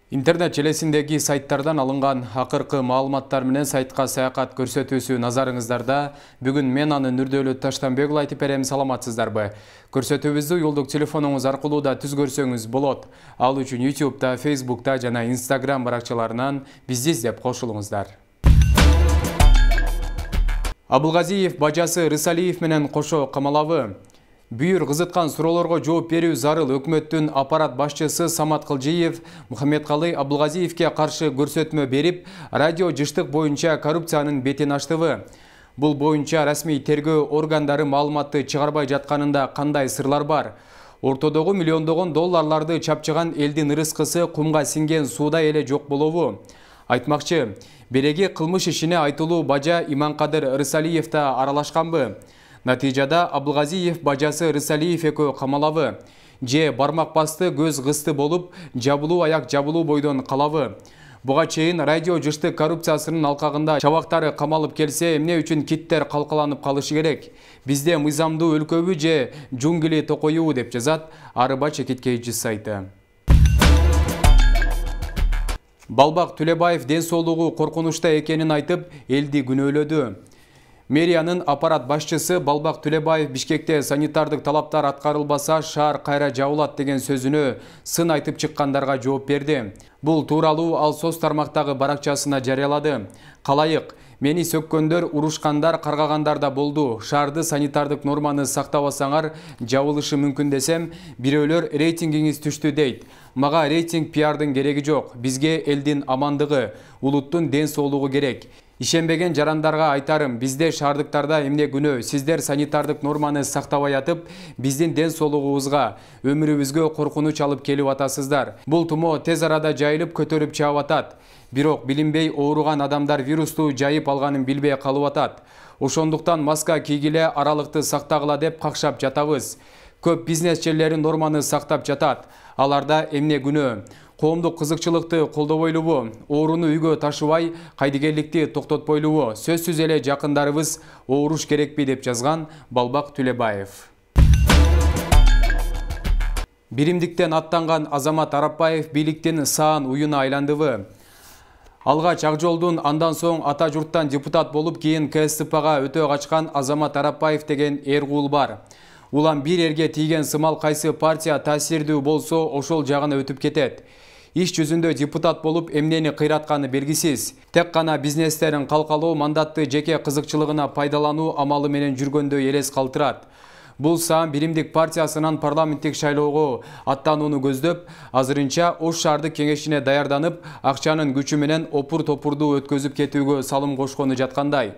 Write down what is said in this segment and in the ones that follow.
Интернет желесиндеги сайттардан алынган акыркы маалыматтар менен сайтка саякат көрсөтүүсү назарыңыздарда. Бүгүн мен анын Нурдөөлөт Таштанбекұлы айтып берем, саламатсыздарбы? Көрсөтүүбүздү юлдук телефонуңуз аркылуу да түзгөрсөңүз болот. Ал үчүн YouTube'да, Facebook'та жана Instagram баракчаларынан бизди издеп кошулуңуздар. Абылгазиев бажасы Рысалиев менен кошо камалабы. Бүйүр кызыткан суроолорго жооп берүү зарыл. Өкмөттүн аппарат башчысы Самат Кылжиев Мухаммедкалый Абылгазиевке каршы көрсөтмө берип, радио жыштык боюнча коррупциянын бетин ачтыбы? Бул боюнча расмий тергөө органдары маалыматты чыгарбай жатканында кандай сырлар бар? Ортодогу миллиондогон долларларды чапчыган элдин ырыскысы кумга сиңген суудай эле жок болобу? Айтмакчы, береги кылмыш ишине айтылуу бажа Иманкадыр Рысалиев да аралашканбы? Натыйжада Абылгазиев бажасы Рысалиев экөө камалабы? Же бармак басты көз кысты болуп, жабылуу аяк жабылуу бойдон калабы? Буга чейин радио жыштык коррупциясынын алкагында чабактары камалып келсе, эмне үчүн киттер калкаланып калышы керек? Бизде мыйзамдуу өлкөбү же жунгли токоюбу, деп жазат Арыба Чекиткейчи сайты. Балбак Төлөбаев ден соолугу коркунучта экенин айтып, элди күнөөлөдү. Мэриянын аппарат башчысы Балбак Төлөбаев Бишкекте санитардык талаптар аткарылбаса, шаар кайра жабылат деген сөзүнө сын айтып чыккандарга жооп берди. Бул тууралуу ал соц тармактагы баракчасына жарыялады. Калайык, мени сөккөндөр, урушкандар, каргагандар да болду. Шаарды санитардык норманы сактабасаңар жабылышы мүмкүн десем, бирөөлөр рейтингиңиз түштү дейт. Мага рейтинг пиардын кереги жок. Бизге элдин амандыгы, улуттун ден соолугу керек. Ишенбеген жарандарга айтарым, бизде шаардыктарда эмне күнөө? Сиздер санитардык норманы сактабай атып, биздин ден соолугубузга, өмүрүбүзгө коркунуч алып келип атасыздар. Бул тумо тез арада жайылып көтөрүп чыгып атат. Бирок билинбей ооруган адамдар вирусту жайып алганын билбей калып атат. Ошондуктан маска кийгиле, аралыкты сактагыла деп какшап жатабыз. Көп бизнесчилер норманы сактап жатат. Аларда эмне күнөө? Коомдук кызыкчылыкты колдобойлубу? Ооруну үйгө ташыбай, кайдыгерликти токтотпойлубу? Сөзсүз эле жакындарыбыз ооруш керекпи, деп жазган Балбак Төлөбаев. Биримдиктен аттанган Азамат Арапбаев бийликтин саан уюна айландыбы? Алгач Ак Жолдун, андан соң ата журттан депутат болуп, кийин КСДПга өтө качкан Азамат Арапбаев деген эргул бар. Улам бир эрге тийген сымал кайсы партия таасирдүү болсо, ошол жагына өтүп кетет. Иш жүзүндө депутат болуп, эмнени кыйратканы белгисиз. Тек гана бизнестерин калкалоо, мандатты жеке кызыкчылыгына пайдалануу амалы менен жүргөндөй элес калтырат. Бул саам Биримдик партиясынан парламенттик шайлоого аттанууну көздөп, азырынча Ош шаардык кеңешине даярданып, акчанын күчү менен опур-топурду өткөзүп кетүүгө салым кошкону жаткандай.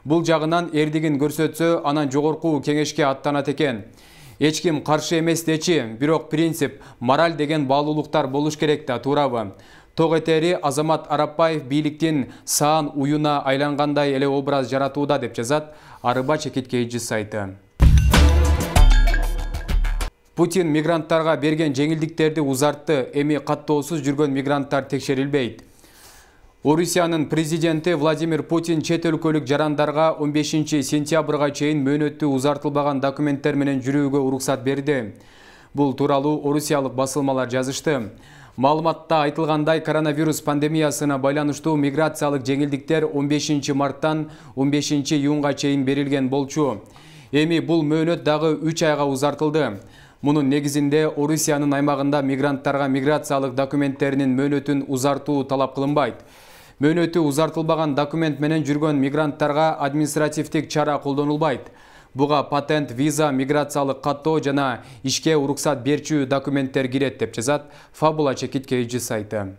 Бул жагынан эрдигин көрсөтсө, анан жогорку кеңешке аттанат экен. Эч ким каршы эмес дечи, бирок принцип, мораль деген баалуулуктар болуш керек да, туурабы? Ток этери Азамат Арапбаев бийликтин саан уюна айлангандай эле образ жаратууда, деп жазат Арыба Чекиткейчи сайты. Путин мигранттарга берген жеңилдиктерди узартты. Эми каттоосуз жүргөн мигранттар текшерилбейт. Орусиянын президенти Владимир Путин чет өлкөлүк жарандарга 15 сентябрга чейин мөөнөттүү узартылбаган документтер менен жүрүүгө уруксат берди. Бул тууралуу орусиялык басылмалар жазышты. Маалыматта айтылгандай, коронавирус пандемиясына байланыштуу миграциялык жеңилдиктер 15 марттан 15 июнга чейин берилген болчу. Эми бул мөөнөт дагы 3 айга узартылды. Мунун негизинде Орусиянын аймагында мигранттарга миграциялык документтеринин мөөнөтүн узартуу талап кылынбайт. Мөөнөтү узартылбаган документ менен жүргөн мигранттарга административдик чара колдонулбайт. Буга патент, виза, миграциялык каттоо жана ишке уруксат берчү документтер кирет, деп жазат Фабула Чекиткейчи сайты.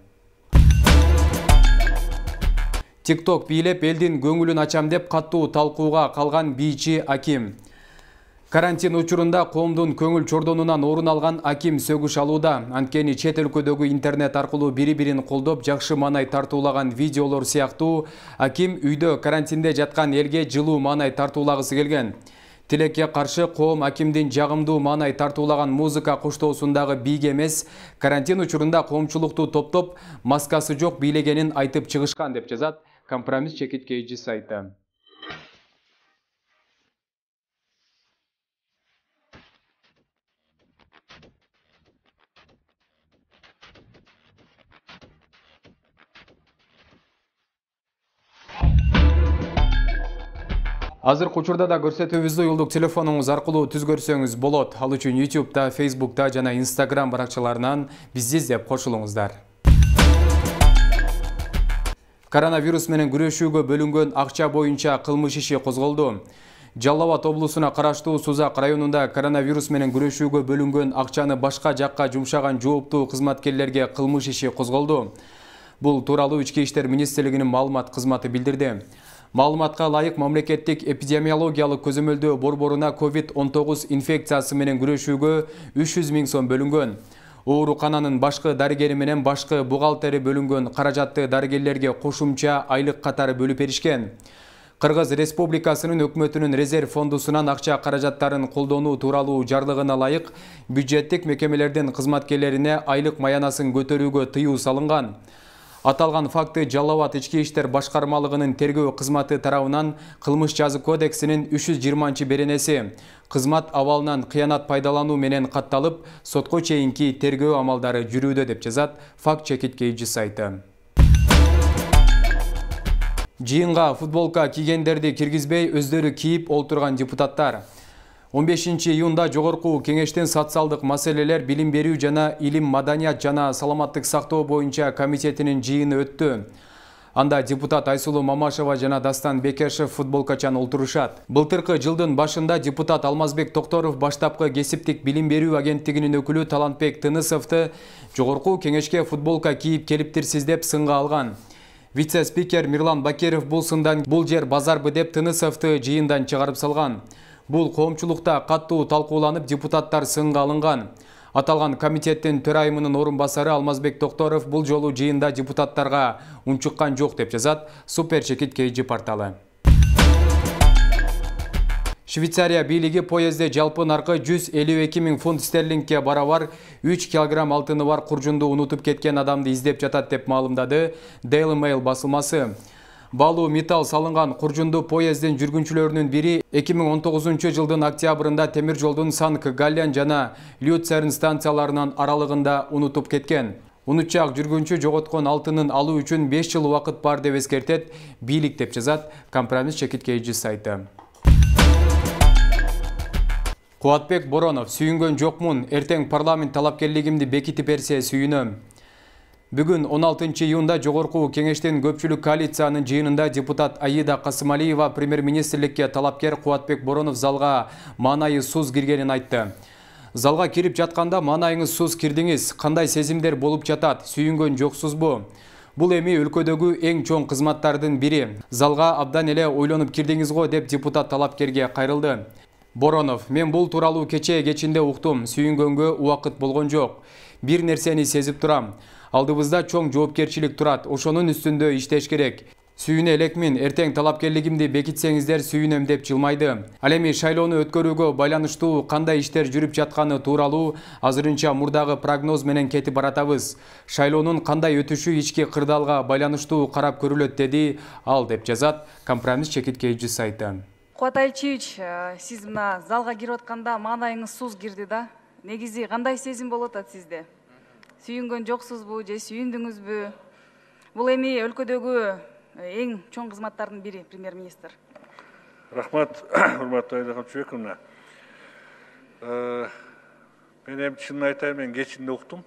TikTok бийлеп элдин көңүлүн ачам деп каттуу талкууга калган бийчи Аким. Карантин учурунда коомдун көңүл чордонунан орун алган Аким сөгүш алууда. Анткени чет өлкөдөгү интернет аркылуу бири-бирин колдоп, жакшы маанай тартуулаган видеолор сыяктуу Аким үйдө карантинде жаткан элге жылуу маанай тартуулагысы келген. Тилекке каршы коом Акимдин жагымдуу маанай тартуулаган музыка коштоосундагы бийге эмес, карантин учурунда коомчулукту топтоп, маскасы жок бийлегенин айтып чыгышкан, деп жазат Компромисс Чекиткейчи сайты. Азыркы учурда да көрсөтүүбүздү уюлдук телефонуңуз аркылуу түз көрсөңүз болот. Ал үчүн YouTube'да, Facebook'та жана Instagram баракчаларынан бизди издеп кошулуңуздар. Коронавирус менен күрөшүүгө бөлүнгөн акча боюнча кылмыш иши козголду. Жалал Абад облусуна караштуу Сузак районунда коронавирус менен күрөшүүгө бөлүнгөн акчаны башка жакка жумшаган жооптуу кызматкерлерге кылмыш иши козголду. Бул тууралуу Ички иштер министрлигинин маалымат кызматы билдирди. Маалыматка ылайык мамлекеттик эпидемиологиялык көзөмөлдөө борборуна COVID-19 инфекциясы менен күрөшүүгө 300 000 сом бөлүнгөн. Оорукананын башкы дарыгери менен башкы бухгалтери бөлүнгөн каражатты дарыгерлерге кошумча айлык катары бөлүп беришкен. Кыргыз Республикасынын өкмөтүнүн резерв фондусунан акча каражаттарын колдонуу тууралуу жарлыгына ылайык бюджеттик мекемелердин кызматкерлерине айлык маянасын көтөрүүгө тыюу салынган. Аталган факты Жалал Абад Ички иштер башкармалыгынын тергөө кызматы тарабынан Кылмыш жаза кодексинин 320-беренеси кызмат абалынан кыянат пайдалануу менен катталып, сотко чейинки тергөө амалдары жүрүүдө деп жазат Факт чекиткейчи сайты. Жыйынга футболка кийгендерди киргизбей өздөрү кийип олтурган депутаттар. 15-июнда жогорку кеңештин социалдык маселелер, билим берүү жана илим, маданият жана саламаттык сактоо боюнча комитетинин жыйыны өттү. Анда депутат Айсулуу Мамашева жана Дастан Бекешев футболкачан олтурушат. Былтыркы жылдын башында депутат Алмазбек Токторов баштапкы кесиптик билим берүү агенттигинин өкүлү Талантбек Тынысовду жогорку кеңешке футболка кийип келиптирсиз деп сынга алган. Вице-спикер Мирлан Бакиров бул сындан бул жер базарбы деп Тынысовду жыйындан чыгарып салган. Бул коомчулукта каттуу талкууланып, депутаттар сынга алынган. Аталган комитеттин төрайымынын орун басары Алмазбек Токторов бул жолу жыйында депутаттарга унчуккан жок деп жазат Супер Чекит KG порталы. Швейцария бийлиги поездде жалпы наркы 152 000 фунт стерлингке барабар 3 килограмм алтыны бар куржунду унутуп кеткен адамды издеп жатат деп маалымдады Daily Mail басылмасы. Балуу металл салынган куржунду поездин жүргүнчүлөрүнүн бири 2019 жылдын октябрында темир жолдун Санк-Галлен жана Люцерн станцияларынын аралыгында унутуп кеткен. Унутчак жүргүнчү жоготкон алтынын алуу үчүн 5 жыл убакыт бар деп эскертет бийлик деп жазат Компромисс Чекит KG сайты. Кубатбек Боронов: сүйүнгөн жокмун, эртең парламент талапкерлигимди бекитип берсе сүйүнөм. Бүгүн 16-июнда жогорку кеңештин көпчүлүк коалициянын жыйынында депутат Аида Касымалиева премьер-министрликке талапкер Кубатбек Боронов залга маанайысыз киргенин айтты. Залга кирип жатканда маанайыңызсыз кирдиңиз, кандай сезимдер болуп жатат, сүйүнгөн жоксузбу? Бул эми өлкөдөгү эң чоң кызматтардын бири. Залга абдан эле ойлонуп кирдиңиз го деп депутат талапкерге кайрылды. Боронов: мен бул тууралуу кечинде уктум, сүйүнгөнгө убакыт болгон жок. Бир нерсени сезип турам. Алдыбызда чоң жоопкерчилик турат, ошонун үстүндө иштеш керек. Сүйүнө элекмин, эртең талапкерлигимди бекитсеңиздер сүйүнөм деп жылмайды. Ал эми шайлоону өткөрүүгө байланыштуу кандай иштер жүрүп жатканы тууралуу азырынча мурдагы прогноз менен кетип баратабыз. Шайлоонун кандай өтүшү ички кырдаалга байланыштуу карап көрүлөт деди ал деп жазат Компромисс Чекит KG сайты. Кубат Айчевич, сиз мына залга кирип атканда маанайыңыз суз кирди да. Негизи кандай сезим болуп атат сизде? Сүйүнгөн жоксузбу же сүйүндүңүзбү? Бул эми өлкөдөгү эң чоң кызматтардын бири премьер-министр. Рахмат, урматтуу Айда Камчыбековна. Мен эми чынын айтайын, мен кечинде уктум.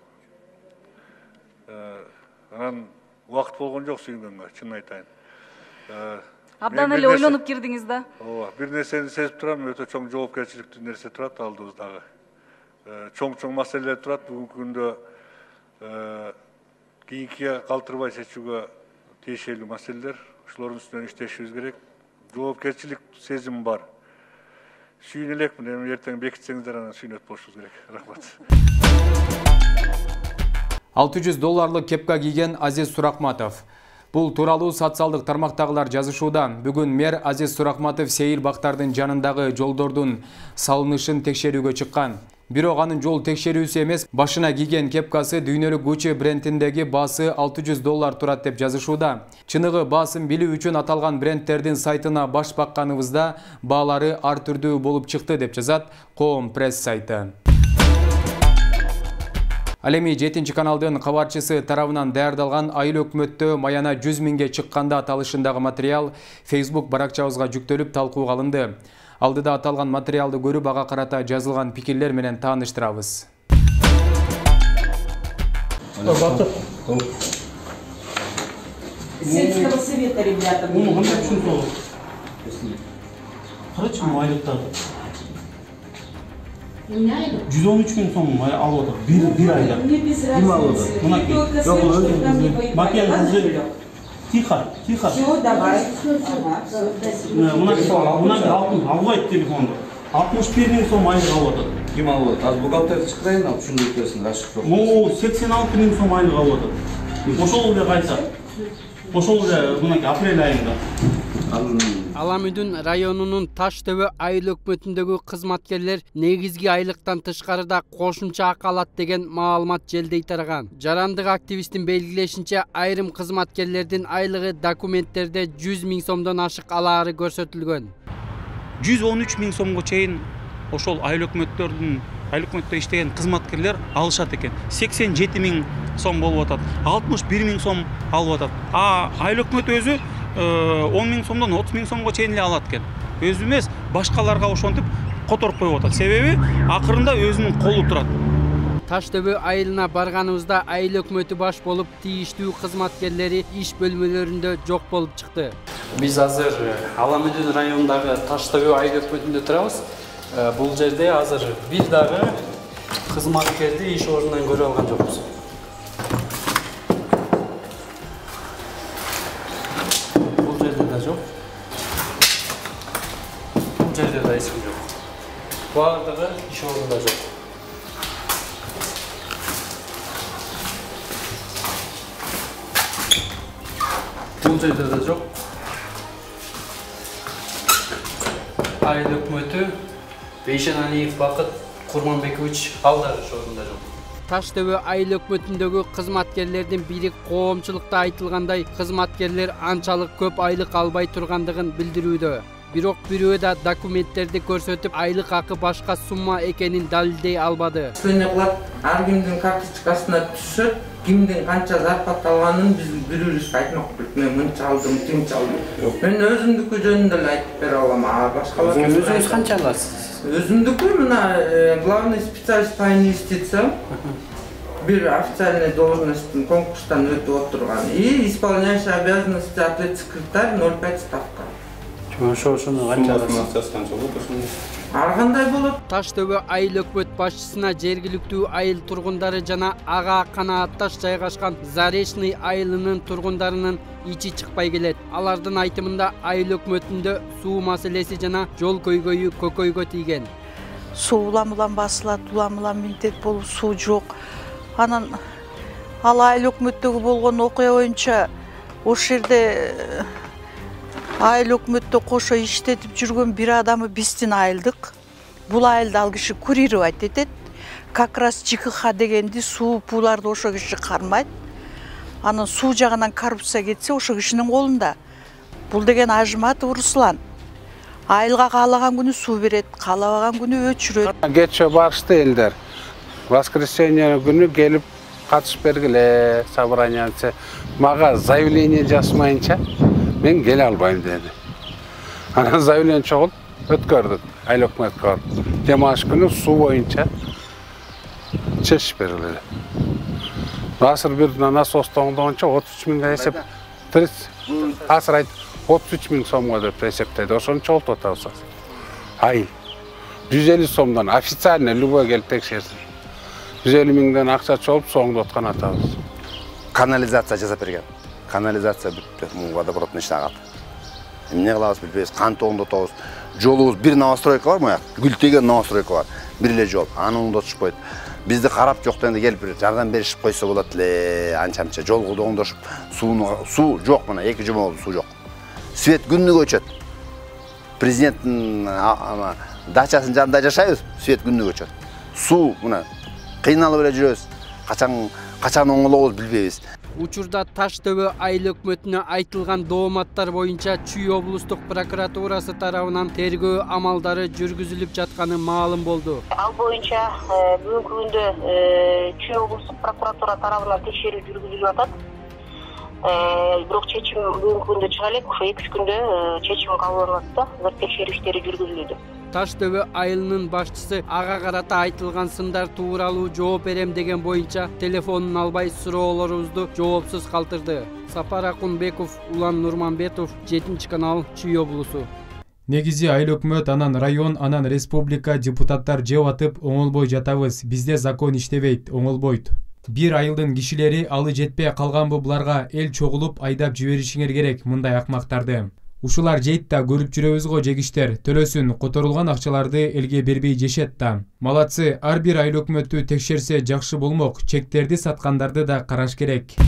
Анан убакыт болгон жок сүйүнгөнгө, чынын айтайын. Абдан эле ойлонуп кирдиңиз да. Ооба, бир нерсени сезип турам, өтө чоң жоопкерчиликтүү нерсе турат алдыбыздагы. Чоң маселелер турат, бүгүнкү күндө кийинкиге калтырбай чечүүгө тиешелүү маселелер, ошолордун үстүнөн иштешибиз керек. Жоопкерчилик сезим бар. Сүйүнө элекмин, эми эртең бекитсеңиздер анан сүйүнөт болушубуз керек. Рахмат. $600 кепка кийген Азиз Суракматов. Бул тууралуу социалдык тармактагылар жазышууда. Бүгүн мэр Азиз Суракматов сейил бактардын жанындагы жолдордун салынышын текшерүүгө чыккан. Бирок анын жол текшерүүсү эмес, башына кийген кепкасы дүйнөлүк Gucci брендиндеги баасы $600 турат деп жазышууда. Чыныгы баасын билүү үчүн аталган брендтердин сайтына баш бакканыбызда баалары ар түрдүү болуп чыкты деп жазат Коом пресс сайты. Ал эми 7 каналдын кабарчысы тарабынан даярдалган айыл өкмөттө маяна 100 миңге чыкканда аталышындагы материал Facebook баракчабызга жүктөлүп талкууга алынды. Алдыда аталган материалды көрүп ага карата жазылган пикирлер менен тааныштырабыз. Сельского совета, ребята. Карачы айлыктарды. 113 миң сом алып отыр. Bir ayda. Ким алып отыр? Макияж тихо. Все, давай. Албайт телефонду. 61 миң сом айлык алып отыр. Ким алып отыр? Az бухгалтер чыкырайын, алып ушундай өтөсүн, ашык жок. 86 миң сом айлык алып отыр. Ошол эле кайса. Ошол эле мынакей апрель айында. Аламүдүн районунун Таштөбө айыл өкмөтүндөгү кызматкерлер негизги айлыктан тышкарыда кошумча акы алат деген маалымат желдей тараган. Жарандык активисттин белгилешинче, айрым кызматкерлердин айлыгы документтерде 100 миң сомдон ашык алаары көрсөтүлгөн. 113 миң сомго чейин ошол айыл өкмөттө иштеген кызматкерлер алышат экен. 87 миң сом болуп атат. 61 миң сом алып атат. Айыл өкмөт өзү 10 миң сомдон 30 миң сомго чейин эле алат экен. Өзү эмес, башкаларга ошентип которуп коюп атат. Себеби акырында өзүнүн колу турат. Таштөбө айылына барганыбызда айыл өкмөтү баш болуп тийиштүү кызматкерлери иш бөлмөлөрүндө жок болуп чыкты. Биз азыр Аламүдүн районундагы Таштөбө айыл өкмөтүндө турабыз. Бул жерде азыр бир дагы кызматкерди иш ордунан көрүп алган жокпуз. Бул жерде да жок. Бул жерде да эч ким жок. Баардыгы иш ордунда жок. Бул жерде да жок. Айыл өкмөтү Бейшеналиев Бакыт Курманбекович алдар иш ордунда жок. Таштөбө айыл өкмөтүндөгү кызматкерлердин бири коомчулукта айтылгандай кызматкерлер анчалык көп айлык албай тургандыгын билдирүүдө. Бирок бирөө да документтерди көрсөтүп айлык акы башка сумма экенин далилдей албады. Ар кимдин карточкасына түшөт, кимдин канча зарплата алганын биз бирөөбүз айтмак болуп, мен мынча алдым, тимче алдым. Мен өзүмдүкү жөнүндө эле айтып бере алам. Башкалар өзүңүз канча аласыз? Өзүмдүкү мына главный специалист по инвестициям. Бир официальный должностьтун конкурстан өтүп отурган. И исполняющий обязанности ответ-секретарь 0,5 ставка. Ошону канча аласыз? Ар кандай болот? Таштөбө айыл өкмөт башчысына жергиликтүү айыл тургундары жана ага канаатташ жайгашкан Заречный айылынын тургундарынын ичи чыкпай келет. Алардын айтымында айыл өкмөтүндө суу маселеси жана жол көйгөйү көкөйгө тийген. Суу улам басылат, улам милдет болуп суу жок. Анан ал айыл өкмөттөгү болгон окуя боюнча ошол жерде айыл өкмөттө кошо иштетип жүргөн бир адамы биздин айылдык. Бул айылды ал киши курировать этет. Как раз ЖКХ дегенди суу пууларды ошо киши кармайт. Анан суу жагынан коррупция кетсе ошо кишинин колунда. Бул деген Ажыматов Руслан. Айылга каалаган күнү суу берет, каалабаган күнү өчүрөт. Кече барышты элдер. Воскресенье күнү келип катышып бергиле собраниясы. Мага заявление жазмайынча мен келе албайм деди. Анан заявление чогулуп өткөрдүк айыл өкмөткө. Демаш күнү суу боюнча чечип бергиле. Азыр бир насос тоңдогончо 33 миңге эсеп 33 миң сомго деп эсептеди. Ошону чогултуп атабыз. Айыл 150 сомдон официально любой келип текшерсин. 150 миңден акча чогулуп соңдоп аткан атабыз. Канализация жасап берген. Канализация бүттү, водопроводный ишин агат. Эмне кылабыз билбейбиз, кантип оңдотобуз. Жолубуз бир новостройка бар мояк, гүлтеген новостройка бар. Бир эле жол, аны оңдотушпойт. Бизди карап жок дегенде келип жардам беришип койсо болот эле, анча-мынча жолду оңдошуп, суу жок мына 2 жума болду, суу жок. Свет күнүгө өчөт. Президенттин дачасынын жанында жашайбыз, свет күнүгө өчөт. Суу мына кыйналып эле жүрөбүз. Качан оңолобуз билбейбиз. Учурда Таш ТВ айыл өкмөтүнө айтылган дооматтар боюнча Чүй облустук прокуратурасы тарабынан тергөө амалдары жүргүзүлүп жатканы маалым болду. Ал боюнча бүгүнкү күндө Чүй облустук прокуратура тарабынан текшерүү жүргүзүлүп атат. Бирок чечим бүгүнкү күндө чыга элек, ошо 2 күндө чечим кабыл алынат да, текшерүү иштери жүргүзүлүүдө. Таш ТВ айылынын башчысы ага карата айтылган сындар тууралуу жооп берем деген боюнча телефонун албай суроолорубузду жоопсуз калтырды. Сапар Акунбеков, Улан Нурманбетов, 7-канал, Чүй облусу. Негизи айыл өкмөт, анан район, анан республика депутаттар жеп атып оңолбой жатабыз. Бизде закон иштебейт, оңолбойт. Бир айылдын кишилери алы жетпей калганбы буларга эл чогулуп айдап жиберишиңер керек мындай акмактарды. Ушулар жейт да көрүп жүрөбүз го жегиштер, төлөсүн, которулган акчаларды элге бербей жешет да. Малатсы, ар бир айыл өкмөтү текшерсе жакшы болмок, чектерди саткандарды да караш керек.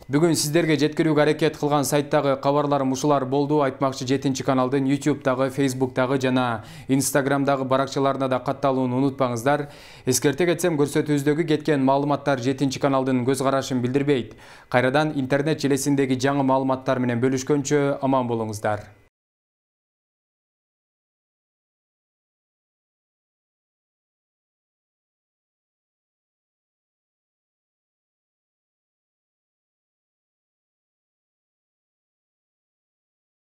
Бүгүн сиздерге жеткирүүгө аракет кылган сайттагы кабарларым ушулар болду. Айтмакчы 7-каналдын YouTube'дагы, Facebook'тагы жана Instagram'дагы баракчаларына да катталууну унутпаңыздар. Эскерте кетсем, көрсөтүүбүздөгү кеткен маалыматтар 7-каналдын көз карашын билдирбейт. Кайрадан интернет желесиндеги жаңы маалыматтар менен бөлүшкөнчө аман болуңуздар.